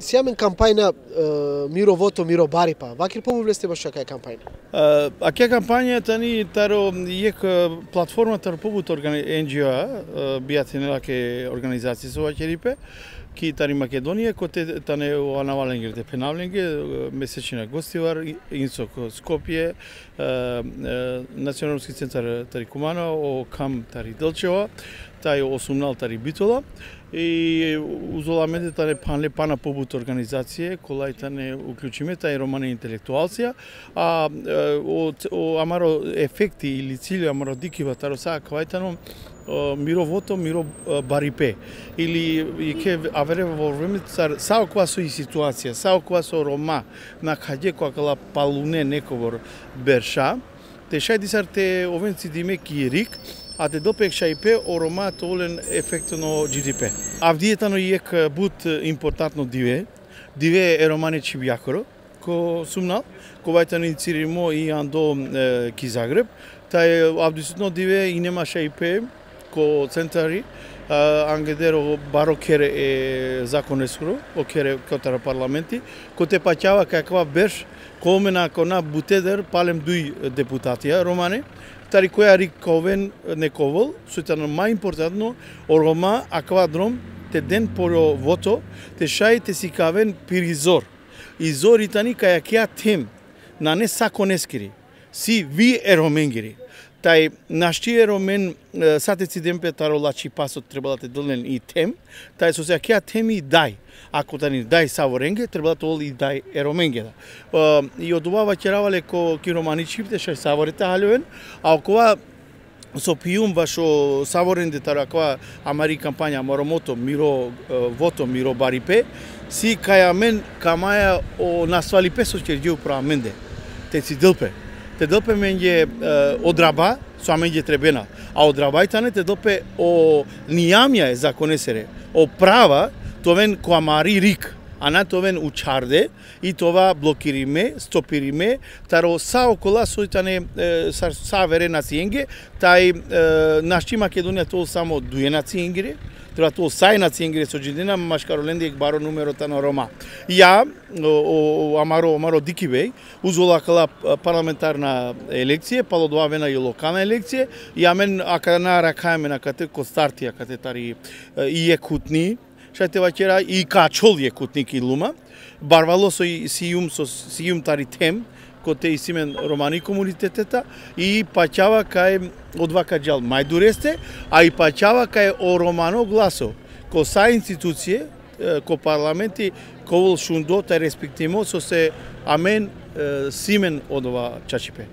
Сјамен кампајна Миро Вото, Миро Барипа. Вакир побувлесте баш кака кампајна? Аке кампања тани таро ек платформата побут NGO бијатинела ке организација со вакерипе ки тари Македонија коте тане анаваленге де пенавленге месечина гостивар инсок Скопје националски центар тари Кумана о кам тари Делчева тај осумнал тари Битола и узоламеде тане пана побут организација колај тане уклучиме тај романе интелектуалција о амаро ефекти или цили амаро дикива таро са квајтано Миро Вото, Миро Барипе или ке авере во време сао ква со и ситуација, сао ква со рома на каде која палуне нековор берша, те шајди сар те овенци диме кирик, а те допек шајпе о рома толен ефектно GDP. Авдиетано ек бут импортантно диве е романе Чибјакоро, ко сумнал, ковајтано инициримо и андо ки Загреб, тај авдисутно диве и нема шајпе ко центари ангедеро баро кере е законесуро, о кере котара парламенти, ко те паќава каква берш, комена кона бутедер палем дуј депутатија романе, тари која риковен нековол, суетано мај импортантно, о рома аквадром, те ден поро вото, те шај те сикавен пиризор. Изор итани каја кеа тем, на не саконескири, си ви ероменгири. Тај нашти еромен сатеци демпе таро лачи пасот требала те долен и тем, тај со се кеа теми дај. Ако тани дај саворенге, требала тол и дај ероменге да. И од ова ваќеравале ко кироманичипте шај саворите халјовен, а окова со пиум вашо саворенде таро аква амари кампања Моромото, Миро Вото, Миро Барипе, си каја мен камаја о насвалипе со ќерѓеу права менде. Те си дилпе. Те допе менге одраба, со менге требена, а одрабајтане те допе о нијамја е законесере, о права, товен коамари рик, а на товен учарде, и това блокириме, стопириме, таро са окола сојтане са вере нациенге, тај нашти Македонија тол само дуе нациенгире, треба тол сај нациенгире со джидина, машкароленди ек баро нумерото на Рома. Ја, амаро дикивеј, узолакала парламентарна елекција, палодовавена и локална елекција, ја мен акана ракаеме на кате Костартија, кате тари и екутни, шајте ваќера и качол екутник и лума, барвало со сијум тари тем, коте и симен романи комунитетета и паќава кај одвака джал мајдуресте, а и паќава кај о романо гласо, ко са институције, ко парламенти, ко вол шундо, тај респектимо, со се амен симен од ова чачипе.